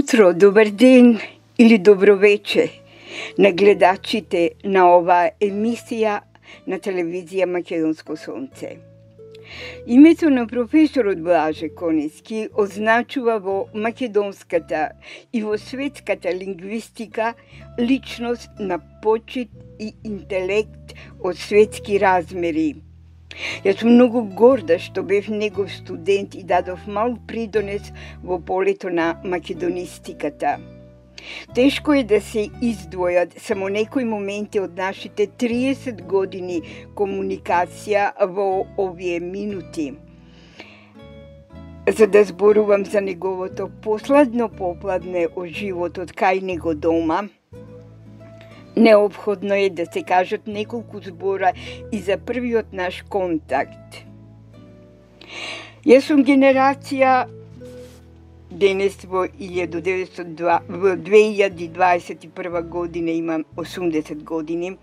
утро, добар ден или добро вече на гледачите на оваа емисија на телевизија Македонско сонце. Името на професорот Блаже Конески означува во македонската и во светската лингвистика личност на почит и интелект од светски размери. Јас сум многу горда што бев негов студент и дадов мал придонес во полето на македонистиката. Тешко е да се издвојат само некои моменти од нашите 30 години комуникација во овие минути. За да зборувам за неговото последно попладне од животот кај него дома, неопходно е да се кажат неколку збора и за првиот наш контакт. Јас сум генерација денес во 2021 година, имам 80 години.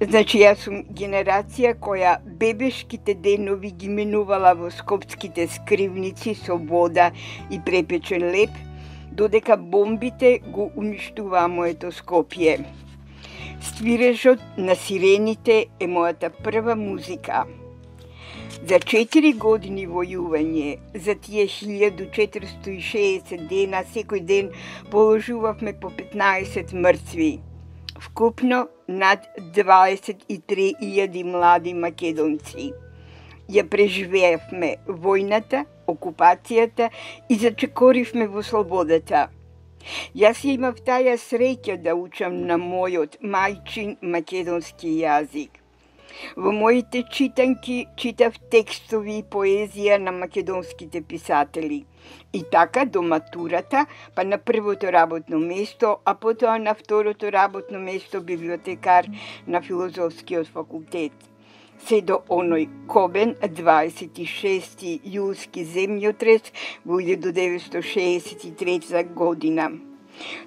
Значи, јас сум генерација која бебешките денови ги минувала во скопските скривници со вода и препечен леп, додека бомбите го уништуваа моето Скопје. Свирежот на сирените е мојата прва музика. За 4 години војување, за тие 1460 дена, секој ден положувавме по 15 мртви. Вкупно над 23.000 млади македонци. Ја преживеавме војната, окупацијата и зачекоривме во слободата. Јас имав таја среќа да учам на мојот мајчин македонски јазик. Во моите читанки читав текстови и поезија на македонските писатели. И така до матурата, па на првото работно место, а потоа на второто работно место библиотекар на филозофскиот факултет. Се до оној кобен 26. јулски земјотрес во 1963 година.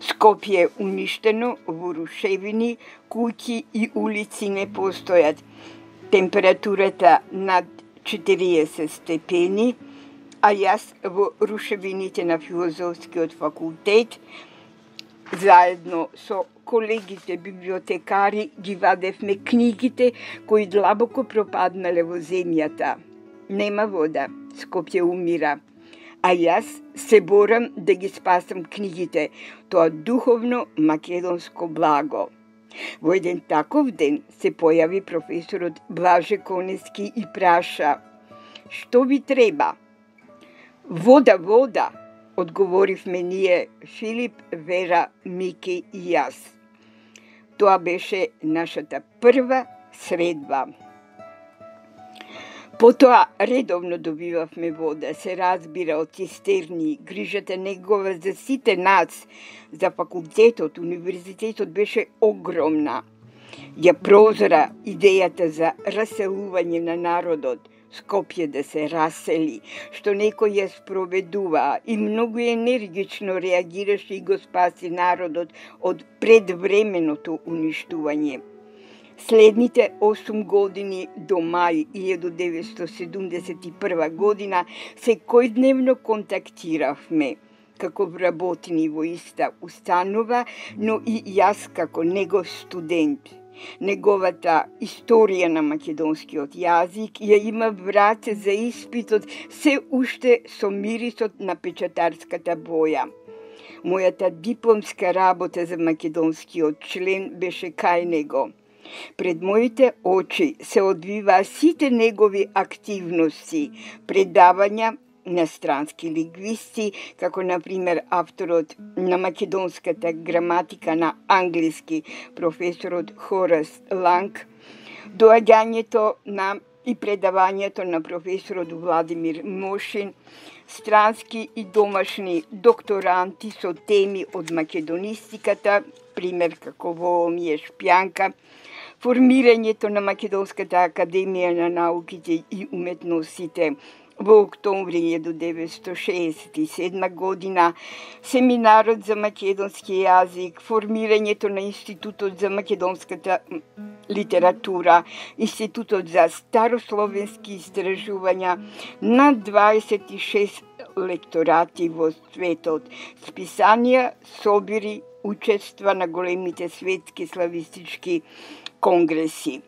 Скопје уништено во рушевини, куќи и улици не постојат. Температурата над 40 степени, а јас во рушевините на филозофскиот факултет заедно со колегите библиотекари ги вадевме книгите кои длабоко пропаднале во земјата. Нема вода, Скопје умира. А јас се борам да ги спасам книгите, тоа духовно македонско благо. Во еден таков ден се појави професорот Блаже Конески и праша: "Што ви треба?" "Вода, вода", одговоривме ние, Филип, Вера, Мики и јас. Тоа беше нашата прва средба. Потоа редовно добивавме вода, се разбира, од цистерни. Грижата негова за сите нас, за факултетот, универзитетот беше огромна. Ја прозра идејата за раселување на народот, Скопје да се расели, што некој ја спроведува и многу енергично реагираше и го спаси народот од предвременото уништување. Следните 8 години до мај 1971 година секојдневно контактиравме како вработени во иста установа, но и јас како негов студент. Неговата историја на македонскиот јазик ја има врат за испитот се уште со мирисот на печатарската боја. Мојата дипломска работа за македонскиот член беше кај него. Пред моите очи се одвиваа сите негови активности, предавања на странски лингвисти, како например авторот на македонската граматика на англиски, професорот Хорас Ланг, доаѓањето на и предавањето на професорот Владимир Мошин, странски и домашни докторанти со теми од македонистиката, пример како Воомије Шпјанка, формирањето на Македонската академија на науките и уметностите во октомври 1967 година, семинарот за македонски јазик, формирањето на Институтот за македонската литература, Институтот за старословенски истражувања, на 26 лекторати во светот, списанија, собири, учества на големите светски славистички конгреси.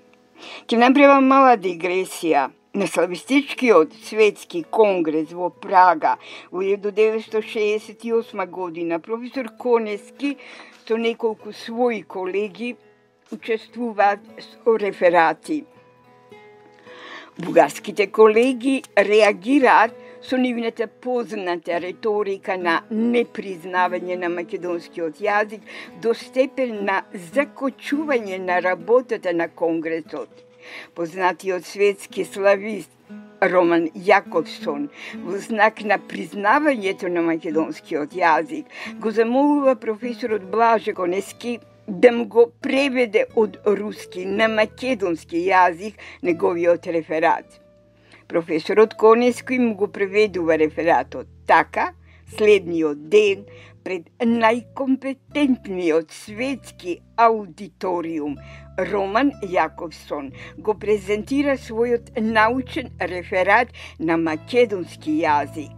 Ќе направам мала дигресија. На славистичкиот светски конгрес во Прага во 1968 година професор Конески со неколку своји колеги учествуваат со реферати. Бугарските колеги реагираат со нивната позната реторика на непризнавање на македонскиот јазик до степен на закочување на работата на конгресот. Познатиот светски славист Роман Јаковсон во знак на признавањето на македонскиот јазик го замолува професорот Блаже Конески да му го преведе од руски на македонски јазик неговиот реферат. Професорот Конески му го преведува рефератот. Така, следниот ден, пред најкомпетентниот светски аудиториум, Роман Јаковсон го презентира својот научен реферат на македонски јазик,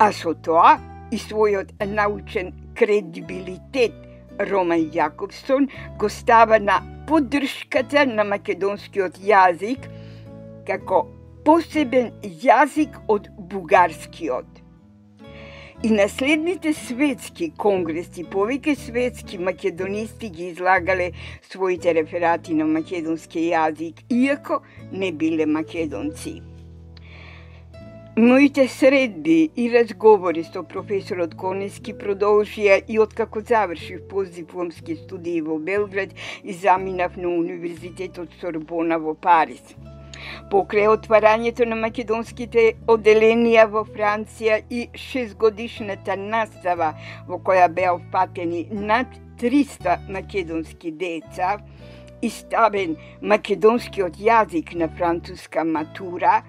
а со тоа и својот научен кредибилитет Роман Јаковсон го става на поддршката на македонскиот јазик како посебен јазик од бугарскиот. И на следните светски конгреси повеќе светски македонисти ги излагале своите реферати на македонски јазик, иако не биле македонци. Моите средби и разговори со професорот Конески продолжија и откако завршив постдипломски студии во Белград и заминав на Универзитетот Сорбона во Париз. Покрај отварањето на македонските оделенија во Франција и 6-годишната настава во која беа опфатени над 300 македонски деца и ставен македонскиот јазик на француска матура,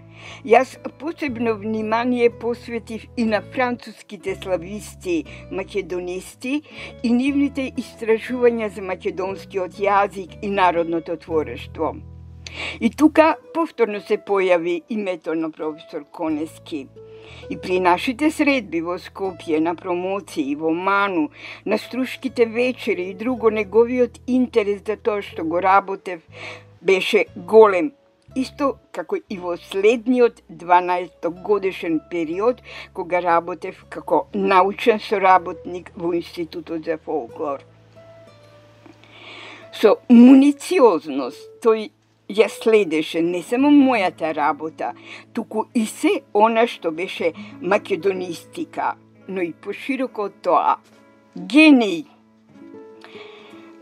јас посебно внимание посветив и на француските слависти, македонисти и нивните истражувања за македонскиот јазик и народното творештво. И тука повторно се појави името на професор Конески. И при нашите средби во Скопје, на промоции, во Ману, на струшките вечери и друго, неговиот интерес за тоа што го работев беше голем. Исто како и во следниот 12-годишен период, кога работев како научен соработник во Институтот за фолклор. Со мунициозност тој ја следеше не само мојата работа, туку и се она што беше македонистика, но и пошироко од тоа. Гений!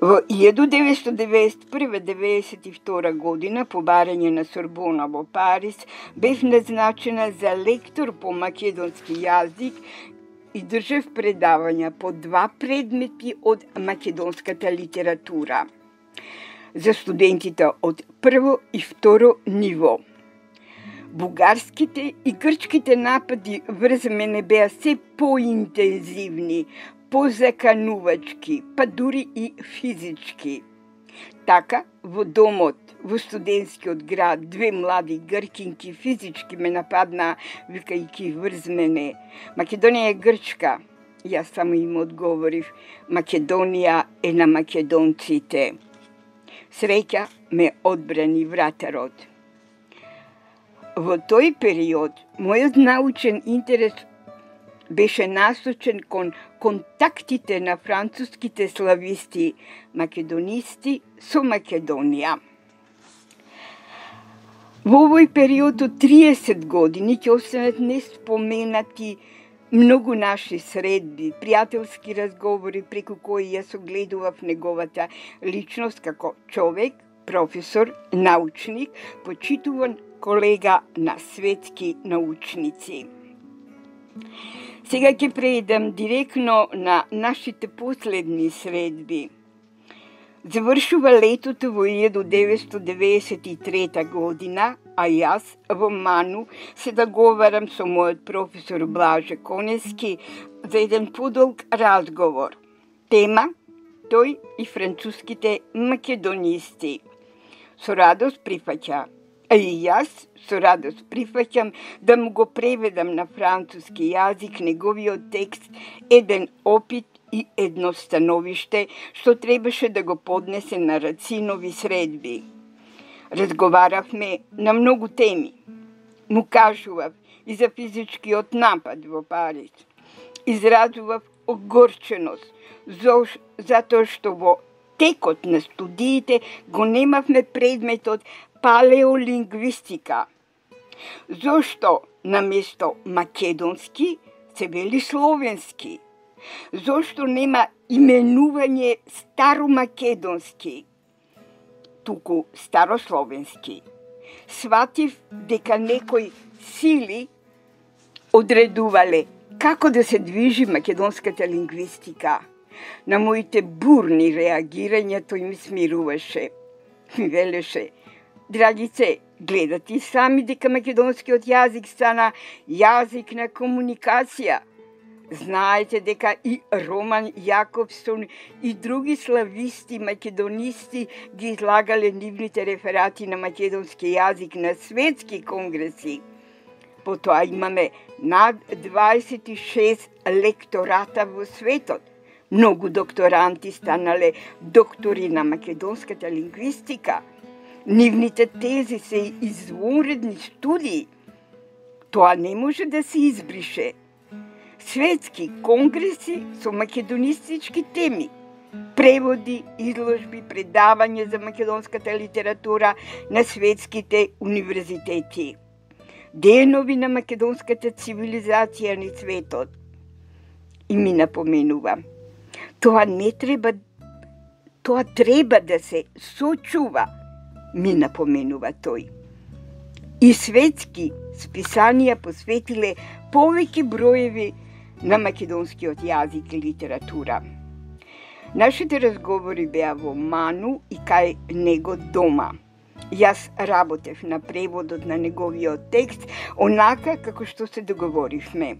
Во 1991-92 година, по барање на Сорбона во Париз, бев назначена за лектор по македонски јазик и држев предавања по 2 предмети од македонската литература за студентите од прво и второ ниво. Бугарските и грчките напади врз мене беа се поинтензивни, позаканувачки, па дури и физички. Така, во домот, во студентскиот град, 2 млади гркинки физички ме нападнаа, викајќи врз мене: "Македонија е грчка." Јас само им одговорив: "Македонија е на македонците." Среќа ме одбрани вратарот. Во тој период, мојот научен интерес беше насочен кон контактите на француските слависти, македонисти со Македонија. Во овој период од 30 години ќе останат неспоменати многу наши средби, пријателски разговори преку кои јас огледував неговата личност како човек, професор, научник, почитуван колега на светски научници. Сега ќе преидам директно на нашите последни средби. Завршува летото во 1993 година, а јас во Ману се договарам со мојот професор Блаже Конески за еден подолг разговор. Тема: тој и француските македонисти. Со радост прифаќа. А и јас со радост прифаќам да му го преведам на француски јазик неговиот текст еден опит и едно становиште што требаше да го поднесе на Рацинови средби. Разговаравме на многу теми. Му кажував и за физичкиот напад во Париз. Изразував огорченост затоа што во текот на студиите го немавме предметот палеолингвистика. Зошто наместо македонски се вели словенски? Зошто нема именување старомакедонски, туку старословенски? Сватив дека некои сили одредувале како да се движи македонската лингвистика. На моите бурни реагирања тој ми смируваше. Ми велеше: драгице, гледате сами дека македонскиот јазик стана јазик на комуникација. Знаете дека и Роман Јаковсон и други слависти македонисти ги излагале нивните реферати на македонски јазик на светски конгреси. Потоа имаме над 26 лектората во светот. Многу докторанти станале доктори на македонската лингвистика. Нивните тези се извонредни студии. Тоа не може да се избрише. Светски конгреси со македонистички теми, преводи, изложби, предавања за македонската литература на светските универзитети, денови на македонската цивилизација на светот. И ми напоменува: тоа треба да се сочува, ми напоменува тој. И светски списанија посветиле повеќе броеви на македонскиот јазик и литература. Нашите разговори беа во Ману и кај него дома. Јас работев на преводот на неговиот текст онака како што се договоривме.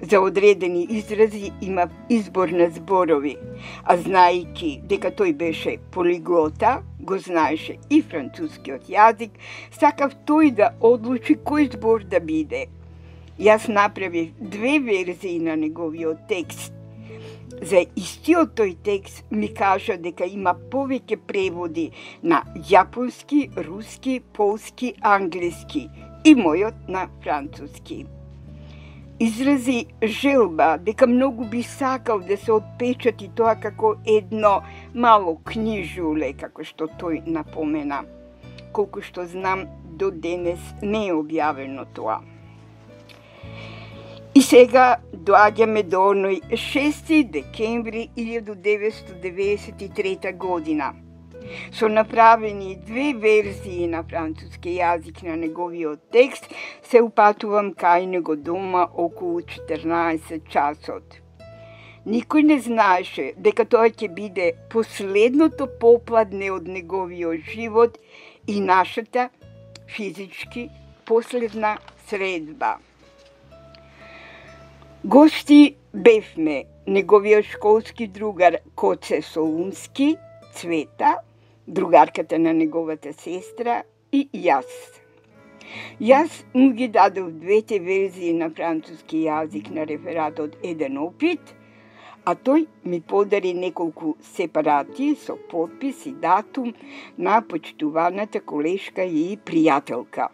За одредени изрази имав избор на зборови, а знаејќи дека тој беше полиглота, го знаеше и францускиот јазик, сакав тој да одлучи кој збор да биде. Јас направив 2 верзии на неговиот текст. За истиот тој текст ми кажа дека има повеќе преводи на јапонски, руски, полски, англиски и мојот на француски. Изрази желба дека многу би сакал да се отпечати тоа како едно мало книжуле, како што тој напомена. Колку што знам, до денес не е објавено тоа. И сега доаѓаме до оној 6 декември 1993 година. Со направени 2 верзии на француски јазик на неговиот текст, се упатувам кај него дома околу 14 часот. Никој не знаеше дека тоа ќе биде последното попладне од неговиот живот и нашата физички последна средба. Гости бевме неговиот школски другар Коце Солунски, Цвета, другарката на неговата сестра и јас. Јас му ги дадов 2 верзии на француски јазик на рефератот еден опит, а тој ми подари неколку сепарати со подпис и датум на почитуваната колешка и пријателка.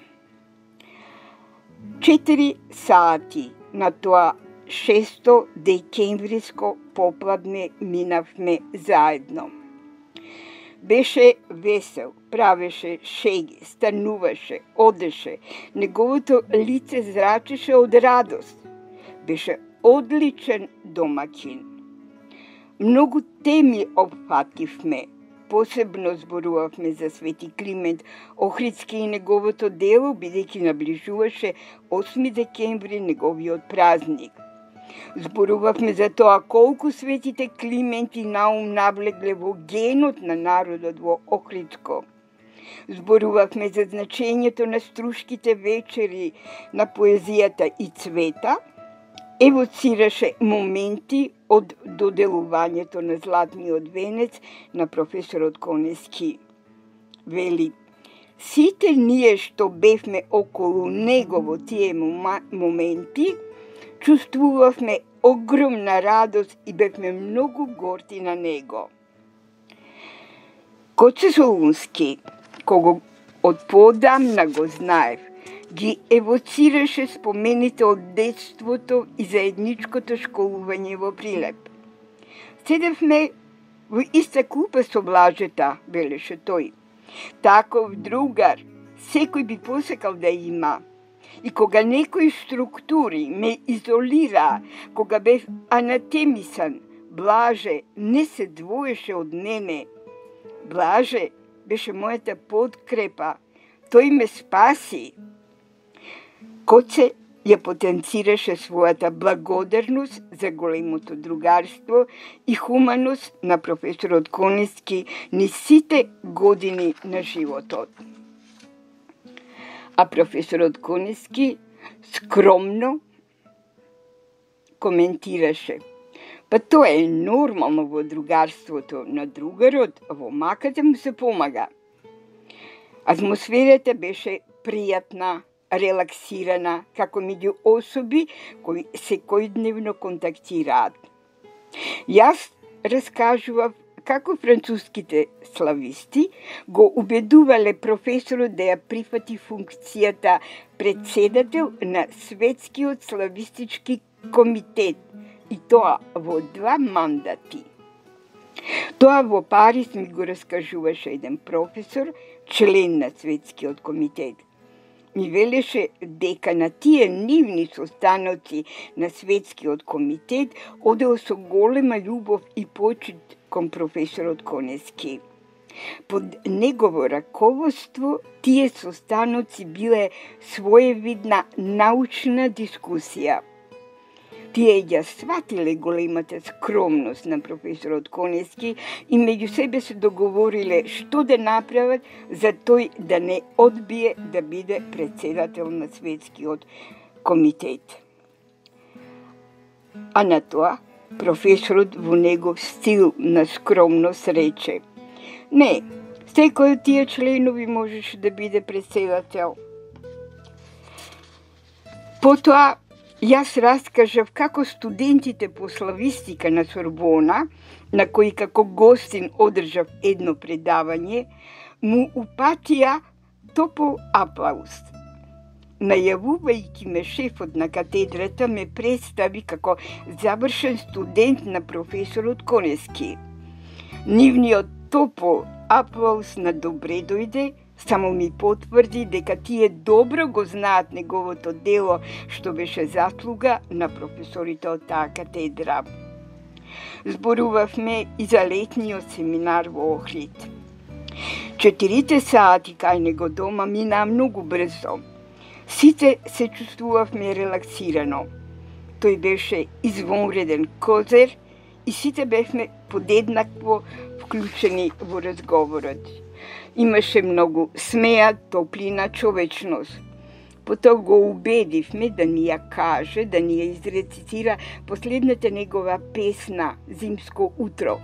4 сати на тоа 6 декемвриско попладне минавме заедно. Беше весел, правеше шеги, стануваше, одеше, неговото лице зрачеше од радост. Беше одличен домаќин. Многу теми опфативме, посебно зборувавме за Свети Климент Охридски и неговото дело, бидејќи наближуваше 8 декември неговиот празник. Зборувавме за тоа колку светите Климент и Наум навлегле во генот на народот во Охридско. Зборувавме за значењето на струшките вечери на поезијата и Цвета, евоцираше моменти од доделувањето на Златниот венец на професорот Конески. Вели: Сите ние што бевме околу него во тие моменти, чувствувавме огромна радост и бевме многу горди на него. Коце Солунски, кого од поодамна го знаев, ги евоцираше спомените од детството и заедничкото школување во Прилеп. Седевме во иста клупа со Блажета, велеше тој. Таков другар секој би посекал да има. И кога некои структури ме изолира, кога бев анатемисан, Блаже не се двоеше од мене. Блаже беше мојата подкрепа. Тој ме спаси. Коце ја потенцираше својата благодарност за големото другарство и хуманост на професорот Конески низ сите години на животот. А професорот Конески скромно коментираше: па тоа е нормално во другарството, на другарот во маката му се помага. Атмосферата беше пријатна, релаксирана, како меѓу особи кои секојдневно контактираат. Јас раскажував како француските слависти го убедувале професорот да ја прифати функцијата председател на Светскиот славистички комитет, и тоа во 2 мандати. Тоа во Париз ми го раскажуваше еден професор, член на Светскиот комитет. Ми велеше дека на тие нивни состаноци на Светскиот комитет одел со голема љубов и почит кон професорот Конески. Под негово раководство тие состаноци биле своевидна научна дискусија. Тие ја сватиле големата скромност на професорот Конески и меѓу себе се договориле што да направат за тој да не одбие да биде председател на Светскиот комитет. А на тоа професорот во негов стил на скромност рече: не, секој од тие членови можеше да биде председател. Потоа јас раскажав како студентите по славистика на Сорбона, на кои како гостин одржав едно предавање, му упатија топол аплауз. Најавувајќи ме шефот на катедрата ме представи како завршен студент на професорот Конески. Нивниот топол аплауз на добре дојде, само ми потврди дека тие добро го знаат неговото дело, што беше заслуга на професорите од таа катедра. Зборувавме и за летниот семинар во Охрид. 4 сати кај него дома минаа многу брзо. Сите се чувствувавме релаксирано. Тој беше извонреден козер и сите бевме подеднакво вклучени во разговорот. Имаше многу смеа, топлина, човечност. Потоа го убедивме да ни ја каже, да ни ја изрецитира последната негова песна «Зимско утро».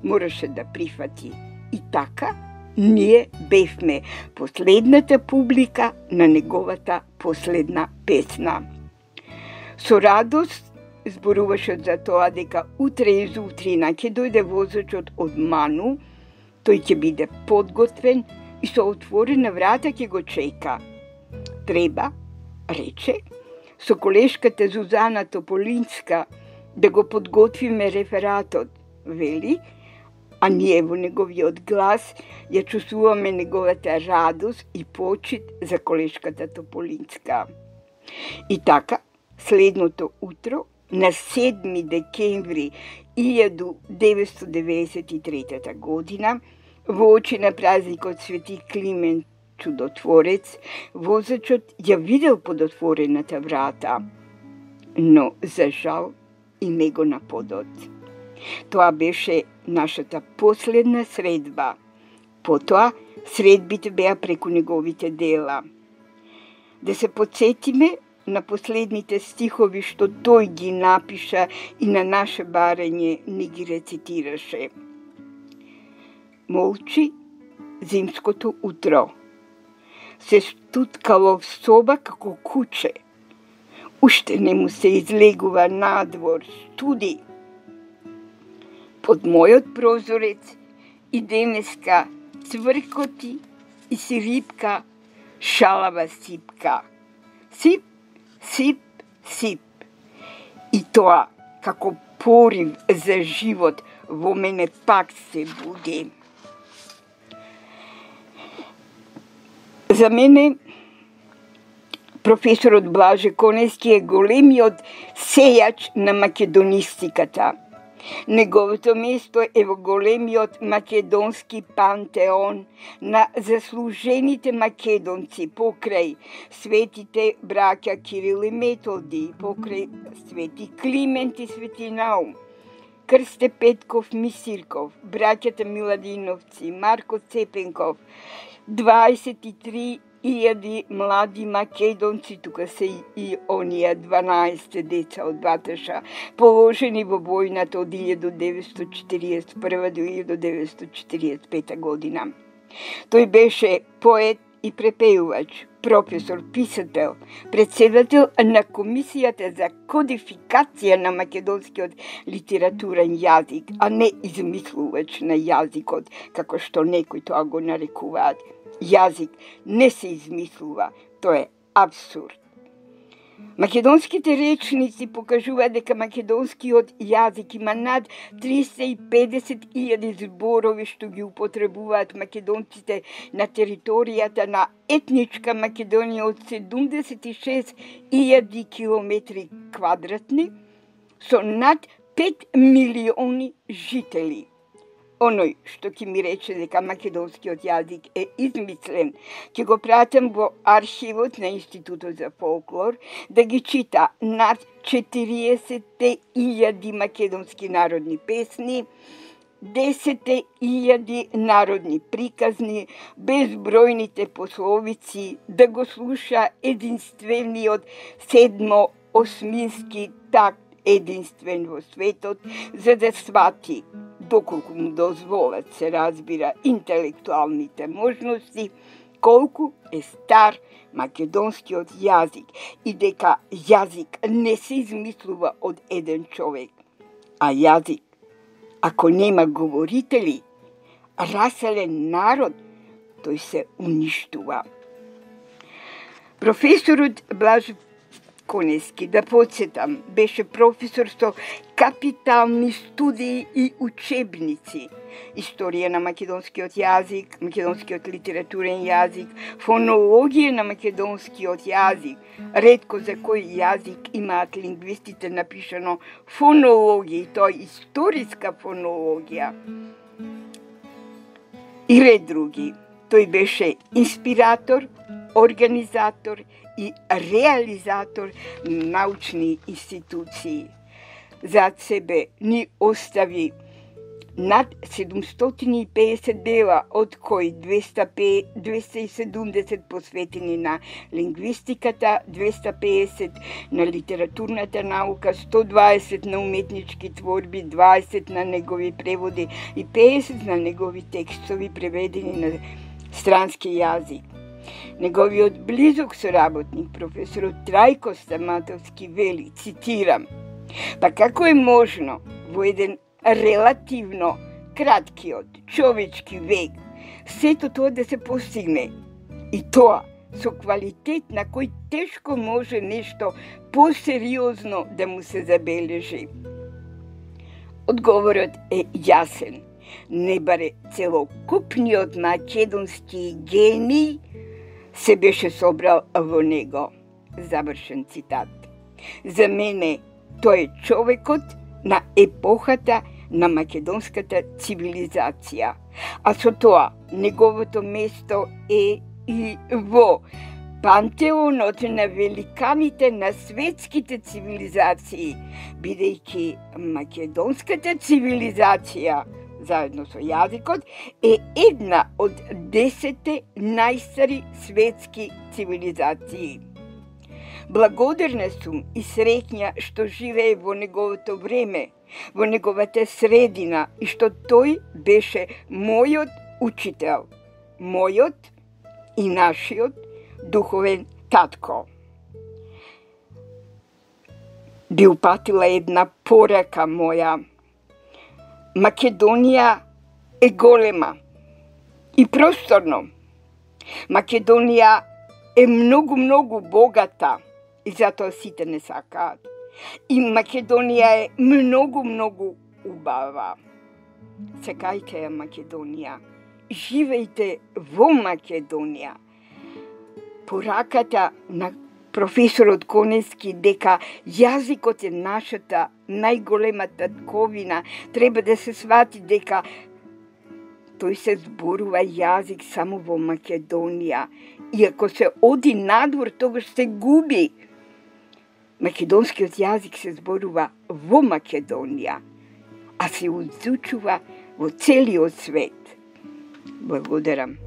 Мораше да прифати. И така, ние бевме последната публика на неговата последна песна. Со радост зборуваше за тоа дека утре изутрина ќе дојде возачот од Ману, тој ќе биде подготвен и со отворена врата ќе го чека. Треба, рече, со колешката Зузана Тополинска да го подготвиме рефератот, вели, а ние во неговиот глас ја чувствуваме неговата радост и почит за колешката Тополинска. И така, следното утро, на 7 декември 1993 година, во очи на празникот Свети Климент Чудотворец, возачот ја видел под отворената врата, но за жал и него на подот. Тоа беше нашата последна средба. Потоа, средбите беа преку неговите дела. Да се подсетиме на последните стихови што тој ги напиша и на наше барање не ги рецитираше. Молчи зимското утро, се стуткало в соба како куче. Уште не му се излегува надвор, студи. Под мојот прозорец и денеска цвркоти и си рибка шалава сипка. Сип, сип, сип. И тоа, како порив за живот, во мене пак се буди. За мене, професорот Блаже Конески е големиот сејач на македонистиката. Неговото место е во големиот македонски пантеон на заслужените македонци покрај светите браќа Кирил и Методи, покрај свети Климент и Свети Наум, Крсте Петков Мисирков, браќата Миладиновци, Марко Цепенков, 23.000 млади македонци, тука се и оние 12 деца од Баташа, положени во војната од 1941 до 1945 година. Тој беше поет и препеувач, професор, писател, председател на Комисијата за кодификација на македонскиот литературен јазик, а не измислувач на јазикот, како што некои тоа го нарекуваат. Јазик не се измислува, тоа е абсурд. Македонските речници покажуваат дека македонскиот јазик има над 350.000 зборови што ги употребуваат македонците на територијата на етничка Македонија од 76.000 километри квадратни со над 5 милиони жители. Оној што ќе ми рече дека македонскиот јазик е измислен, ќе го пратам во архивот на Институтот за фолклор да ги чита над 40.000 македонски народни песни, 10.000 народни приказни, безбројните пословици, да го слуша единствениот седмо-осмински такт, единствен во светот, за да свати, доколку му дозволат, се разбира, интелектуалните можности, колку е стар македонскиот јазик и дека јазик не се измислува од еден човек, а јазик, ако нема говорители, раселен народ, тој се уништува. Професорот Блаже Конески, да подсетам, беше професор со капитални студии и учебници. Историја на македонскиот јазик, македонскиот литературен јазик, фонологија на македонскиот јазик. Ретко за кој јазик имаат лингвистите напишано фонологија, и тоа историска фонологија. И ред други. Тој беше инспиратор, организатор и реализатор на научни институции. Зад себе ни остави над 750 дела, од кои 270 посветени на лингвистиката, 250 на литературната наука, 120 на уметнички творби, 20 на негови преводи и 50 на негови текстови преведени на странски јазик. Неговиот близок соработник, професорот Трајко Стаматовски, вели, цитирам: "Па како е можно во еден релативно краткиот човечки век сето тоа да се постигне, и тоа со квалитет на кој тешко може нешто посериозно да му се забележи?" Одговорот е јасен. Не баре целокупниот македонски гений се беше собрал во него. Завршен цитат. За мене тој е човекот на епохата на македонската цивилизација, а со тоа неговото место е и во пантеонот на великаните на светските цивилизации, бидејќи македонската цивилизација заедно со јазикот е една од 10 најстари светски цивилизации. Благодарна сум и среќна што живее во неговото време, во неговата средина, и што тој беше мојот учител, мојот и нашиот духовен татко. Би упатила една порака моја. Македонија е голема и просторно. Македонија е многу богата и затоа сите не сакаат. И Македонија е многу убава. Сакајте ја Македонија. Живејте во Македонија. Пораката на професорот Конески дека јазикот е нашата најголема татковина, треба да се свати дека тој се зборува јазик само во Македонија. И ако се оди надвор, тогаш се губи. Македонскиот јазик се зборува во Македонија, а се изучува во целиот свет. Благодарам.